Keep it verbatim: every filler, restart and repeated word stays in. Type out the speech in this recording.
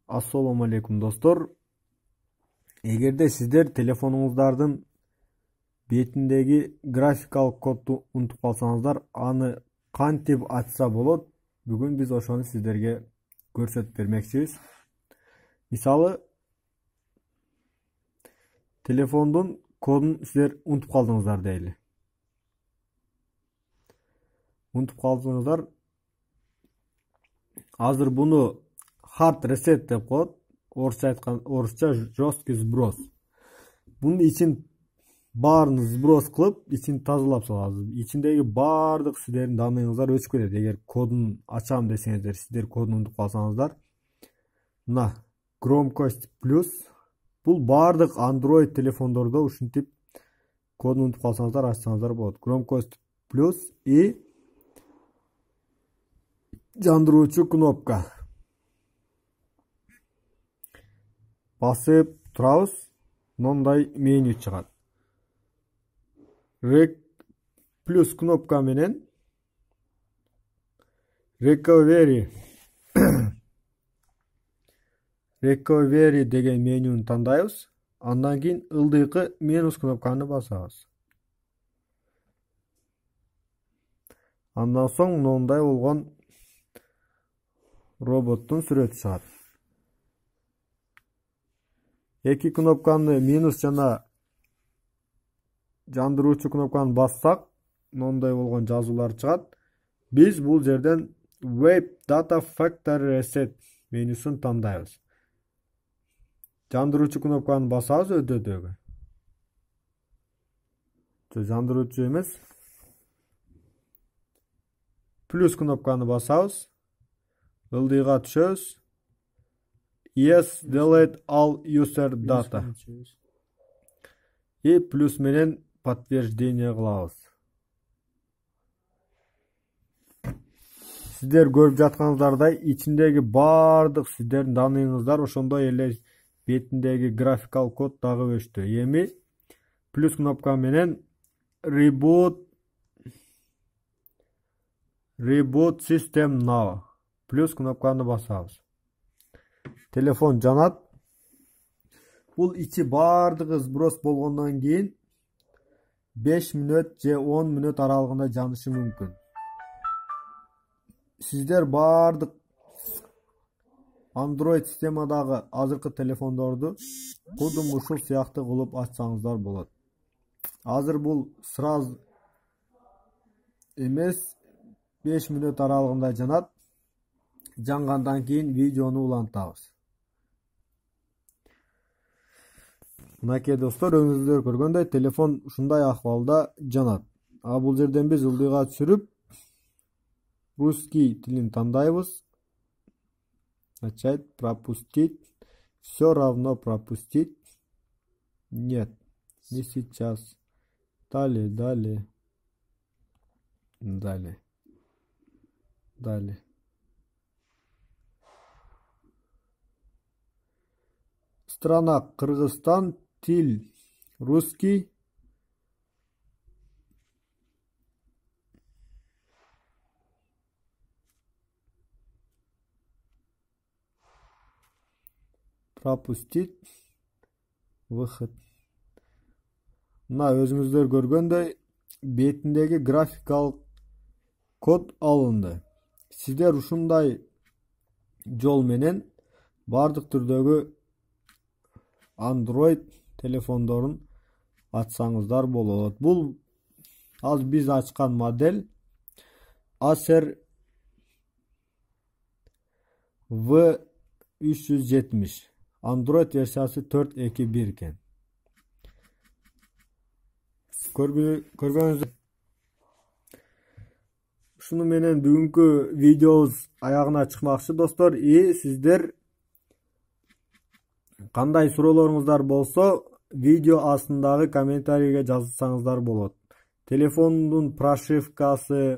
Ассаламу алейкум достор. Эгерде сиздер телефонуңуздардын бетиндеги графикалык кодду унутуп калсаңыздар, аны кантип ачса болот? Бүгүн биз ошону сиздерге көрсөтүп бермекчибиз. Мисалы, телефондун кодун сиздер унутуп калдыңыздар дейли. Унутуп калдыңыздар. Азыр буну hard reset деп коет. Орусча айткан, орусча жесткий сброс. Бунун ичин баарын сброс кылып, ичин тазалап салабыз. Ичиндеги баардык сиздердин данныйыңыздар өчүп кетет. Эгер кодун ачам десеңиздер, сиздер кодун унутуп калсаңыздар. Мына громкость плюс. Бул баардык Android телефондордо ушинтип кодун унутуп калсаңыздар, ачсаңыздар болот. Громкость плюс и жандыруучу кнопка. Басып турабыз, мындай меню чыгат. Рек плюс кнопка менен recovery recovery деген менюну тандайбыз. Андан кийин ылдыйкы минус кнопканы басабыз. Андан соң мындай болгон роботтун сүрөтү чыгат. Эки кнопканы минус жана жандыруучу кнопканы бассак, мындай болгон жазуулар чыгат. Биз бул жерден Web Data Factory Reset менюсун тандайбыз. Жандыруучу кнопканы басабыз өтөдөгү. Жандыруучу эмес. Плюс кнопканы басабыз. Ылдыйга түшөбүз. Yes, delete all user data. И плюс менен подтверждение кылабыз. Сиздер көрүп жатканыңыздардай, ичиндеги баардык сиздердин данныйыңыздар ошондой эле бетиндеги графикалык код дагы өчтү. Эми плюс кнопка менен reboot reboot system now. Плюс кнопканы басабыз. Телефон жанат. Бул ичи баардыгы сброс болгондон кийин беш мүнөт же он мүнөт аралыгында жанышы мүмкүн. Сиздер баардык Android системадагы азыркы телефондорду кудум ушул сыяктуу кылып ачсаңыздар болот. Азыр бул сразу эмес, беш мүнөт аралыгында жанат. Жангандан кийин видеону улантабыз. Мынакей достор, өзүңүздөр көргөндөй телефон ушундай акыбалда жанат. А бул жерден биз ылдыйга түшүрүп русский тилин тандайбыз. Начать, пропустить. Все равно пропустить. Нет, не сейчас. Далее, далее. Далее. Далее. Страна Кыргызстан, тил русский. Пропустить. Выход. Мына өзүңүздөр көргөндөй бетиндеги графикалык код алынды. Сиздер ушундай жол менен бардык түрдөгү Android телефондорун ачсаңыздар болот. Бул аз биз ачкан модель Acer V үч жүз жетимиш. Android версиясы төрт эки бир экен. Көргөнүңүздөр. Ушуну менен бүгүнкү видеобуз аягына чыкмакчы достор. И сиздер кандай суроолоруңуздар болсо, видео астындагы комментарийге жазсаңыздар болот. Телефондун прошивкасы,